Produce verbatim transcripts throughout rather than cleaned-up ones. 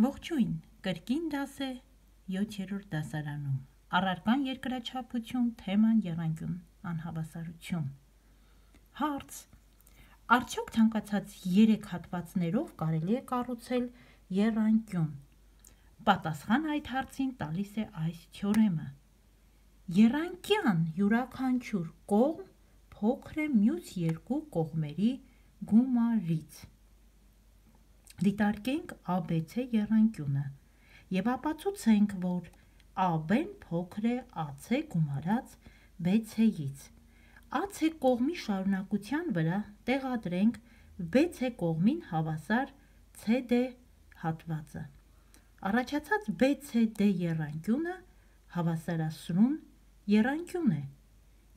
Ողջույն, կրկին դաս է յոթերորդ դասարանում, առարկան երկրաչափություն, թեման եռանկյուն անհավասարություն։ Հարց. արդյոք ցանկացած երեք հատվածներով կարելի է կառուցել եռանկյուն։ Պատասխանը այդ հարցին տալիս է այս թեորեմը։ Եռանկյան յուրաքանչյուր կողմ փոքր է մյուս երկու կողմերի գումարից։ Դիտարկենք ա բե ցե եռանկյունը և ապացուցենք, որ ա բեն փոքր է ա ցե գումարած բե ցեից։ ա ցե կողմի շարունակության վրա տեղադրենք բե ցե կողմին հավասար ցե դե հատվածը։ Առաջացած բե ցե դե եռանկյունը հավասարասրուն եռանկյուն է,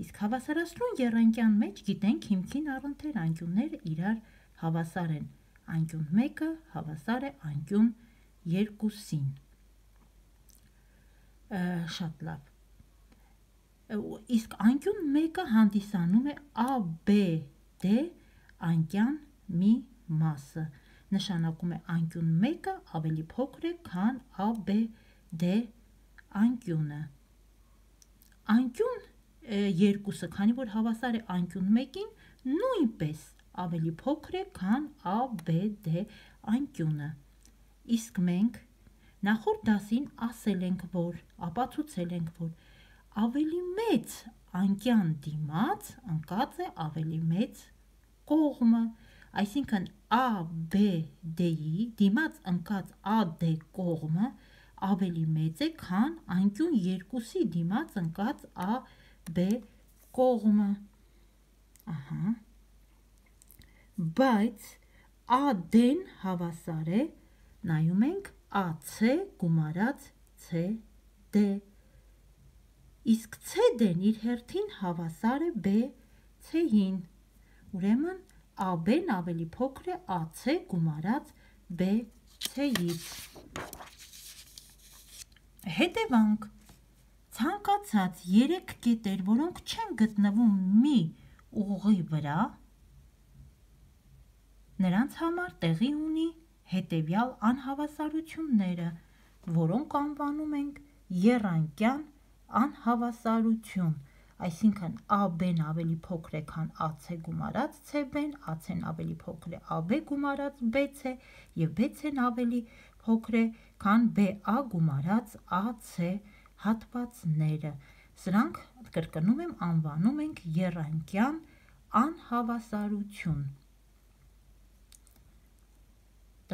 իսկ հավասարասրուն եռանկյան մեջ գիտենք հիմքին առընթեր անկյունները իրար հավասար են, անկյուն մեկը հավասար է անկյուն երկուսին։ Շատ լավ։ Իսկ անկյուն մեկը հանդիսանում է ա բե դե անկյան մի մասը, նշանակում է անկյուն մեկը ավելի փոքր է, քան ա բե դե անկյունը։ Անկյուն երկուսը, քանի որ հավասար է անկյուն մեկին, նույնպես ավելի փոքր է, քան ա բե դե անկյունը։ Իսկ մենք նախորդ դասին ասել ենք, որ ապացուցել ենք, որ ավելի մեծ անկյան դիմաց ընկած է ավելի մեծ կողմը, այսինքն ա բե դեի դիմաց ընկած ա դե կողմը ավելի մեծ է, քան անկյուն երկուսի դիմաց ընկած ա բե կողմը։ Ահա։ Բայց ա դեն հավասար է, նայում ենք ա ցե գումարած ցե դե, իսկ ցե դեն իր հերթին հավասար է բե ցեին, ուրեմն ա բեն ավելի փոքր է ա ցե գումարած բե ցեից։ Հետևանք. ցանկացած երեք կետեր, որոնք չեն գտնվում մի ուղղի վրա, նրանց համար տեղի ունի հետևյալ անհավասարությունները, որոնք անվանում ենք եռանկյան անհավասարություն, այսինքն ա բեն ավելի փոքր է, քան ա ցե գումարած ցե բեն, ա ցեն ավելի փոքր է ա բե գումարած բե ցե և բե ցեն ավելի փոքր է, քան բե ա գումարած ա ցե հատվածները։ Սրանք, կրկնում եմ, անվանում ենք եռանկյան անհավասարություն։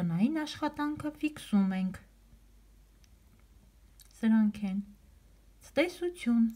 Տնային աշխատանքը ֆիքսում ենք։ Սրանք են. ցտեսություն,